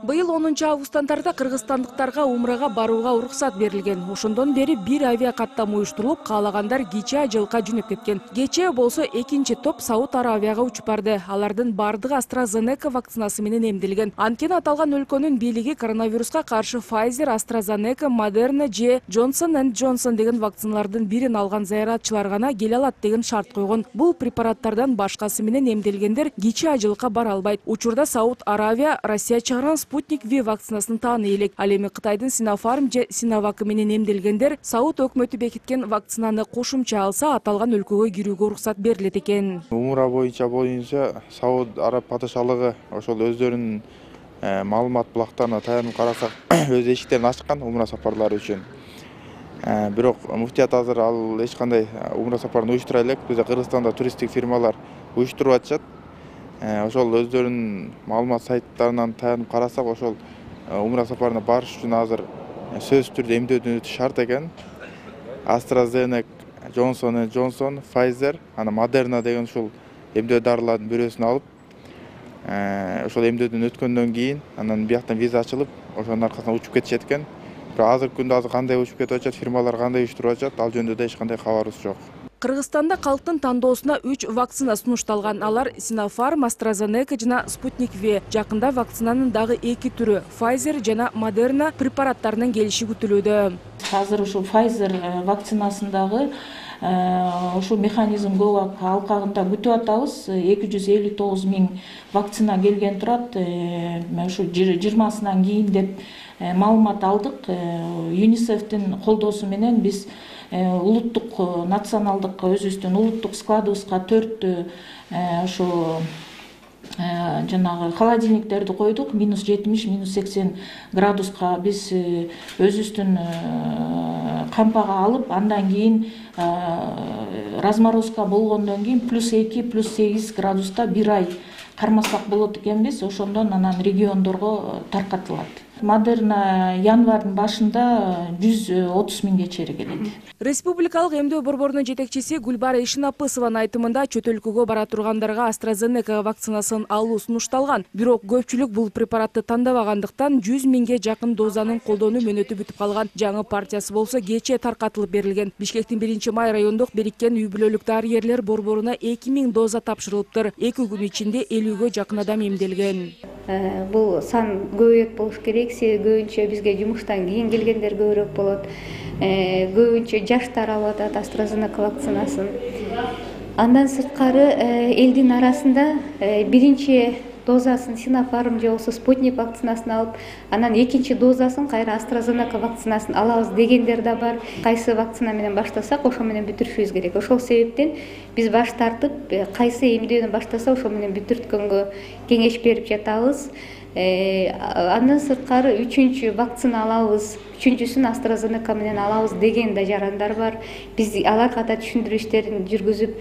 Быйыл 10 августтан тарта кыргызстандыктарга умрага барууга уруксат берилген. Ошондон бери бир авиа каттам уюштурулуп, каалагандар кечээ Ажылыкка жөнөп кеткен. Кечээ болсо экинчи топ Сауд Аравияга учуп барды. Алардын бардыгы AstraZeneca вакцинасы менен эмдилген. Анткени аталган өлкөнүн бийлиги коронавируска каршы Pfizer, AstraZeneca, Moderna же Johnson & Johnson деген вакциналардын бирин алган зыяратчылар гана келе алат деген шарт койгон. Бул препараттардан башкасы менен эмделгендер кечээ Ажылыкка бара албайт. Учурда Сауд Аравия Россия чыгарган Sputnik V вакцинасын тааны элек. Ал эми Кытайдын Sinopharm же Sinovac менен эмделгендер Сауд өкмөтү бекиткен вакцинаны кошумча алса, аталган өлкөгө кирүүгө уруксат берилет экен. Умра боюнча Сауд Араб падышалыгы ошол өздөрүнүн маалымат булактарына таянып карасак, өз эшиктерин ачкан умра сапарлары үчүн. Бирок муфтият азыр ал эч кандай умра сапарын уюштура элек. Бизде Кыргызстанда туристтик фирмалар уюштуруп атышат. Ошол өздөрүнүн маалымат сайттарынан таянып карасак, ошол умра сапарына барыш үчүн азыр сөзсүз түрдө эмдөөдөн өтүш шарт экен. AstraZeneca, Johnson & Johnson, Pfizer, ана Moderna деген ушул эмдөө дарылардын бирөөсүн алып, ошол эмдөөдөн өткөндөн кийин анан бияктан виза ачылып, ошонун аркасынан учуп кетишет экен. Бирок азыркы күндө кандай учуп кетип атышат, фирмалар кандай уюштуруп атышат, ал жөнүндө эч кандай кабарыбыз жок. Кыргызстанда калктын тандоосуна 3 вакцина сунушталган. Алар Sinopharm, AstraZeneca жана Sputnik V. Жакында вакцинанын дагы 2 түрү Pfizer жана Moderna препараттарынын келиши күтүлүүдө. Азыр ушул Pfizer вакцинасындагы ошол механизм көп алкагында күтүп атабыз. 259 000 вакцина келген турат. Ушу 20-сынан кийин деп маалымат алдык. ЮНИСЕФтин колдоосу менен биз улуттук националдык өзүбүздүн улуттук складыбызга 4 ошо жанагы холодильниктерди койдук. -70, -80 градуска биз өзүбүздүн кампага алып, андан кийин разморозка болгондон кийин +2, +8 градуста 1 ай кармасак болот экенбиз. Ошондон анан региондорго таркатылат. Moderna январдын башында 130 000 чейин келет. Республикалык эмдөө борборунун жетекчиси Гүлбара Ишинапысованын айтымында чөт өлкөгө бара тургандарга AstraZeneca вакцинасын алуу сунушталган. Бирок көпчүлүк бул препаратты тандабагандыктан 100 000 жакын дозанын колдонуу мөөнөтү бүтүп калган. Жаңы партиясы болсо кечээ таркатылып берилген. Бишкектин 1-май райондук бириккен үй бүлөлүк дарыгерлер борборуна 2000 доза тапшырылыптыр. 2 күн ичинде 50ге жакын адам эмделген. Бул сан көбөйөт болуш керек. Көбүнчө бизге жумуштан кийин келгендер көбүрөөк болот. Көбүнчө жаштар алып атат AstraZeneca вакцинасын. Андан сырткары элдин арасында биринчи дозасын Sinopharm же болсо Sputnik вакцинасын алып, анан экинчи дозасын кайра AstraZeneca вакцинасын алабыз дегендер да бар. Кайсы вакцина менен баштасак, ошо менен бүтүрүшүбүз керек. Ошол себептен биз баш тартып, кайсы эмдөөдөн баштаса, ошо менен бүтүрткөнгө кеңеш берип жатабыз. Андан сырткары 3-чү вакцина алабыз, 3-чүсүн AstraZeneca менен алабыз деген да жарандар бар. Биз аларга да түшүндүрүү иштерин жүргүзүп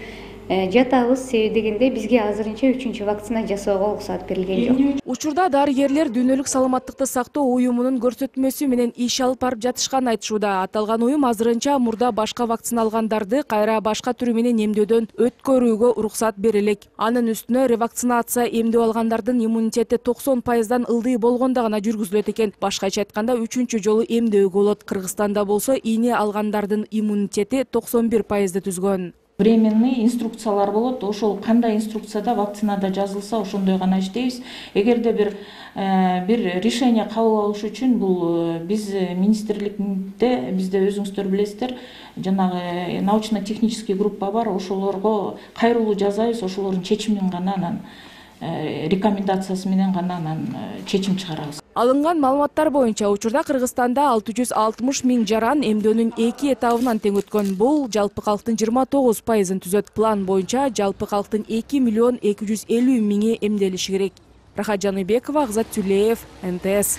жатабыз. Себеби дегенде бизге азырынча 3-чү вакцина жасоого уруксат берилген жок. Учурда дарыгерлер дүйнөлүк саламаттыкты сактоо уюмунун көрсөтмөсү менен иш алып барып жатышканын айтышууда. Аталган уюм азырынча мурда башка вакцина алгандарды кайра башка түрү менен эмдөөдөн өткөрүүгө уруксат берилек. Анын үстүнө ревакцинация эмдөө алгандардын иммунитети 90% ылдый болгондо гана жүргүзүлөт экен. Башкача айтканда 3-чү жолу эмдөөгө болот. Кыргызстанда болсо ийне алгандардын иммунитети 91% түзгөн. Временный инструкциялар болот. Ошол кандай инструкцияда вакцинада жазылса, ошондой гана иштейбиз. Эгерде бир решение кабыл алыш үчүн бул биз министрликте, бизде өзүңүздөр билесиздер, жанагы научно-технический группа бар. Ошолорго кайрылуу жасайбыз, ошолордун чечимин гана анан рекомендациясы менен гана анан чечим чыгарабыз. Алынган маалыматтар боюнча учурда Кыргызстанда 660 000 жаран эмдөөнүн 2 этабынан тең өткөн. Бул жалпы калктын 29% түзөт. План боюнча жалпы калктын 2 250 000 эмделиши керек. Рахат Жаныбекова, Акзат Тюлеев, НТС.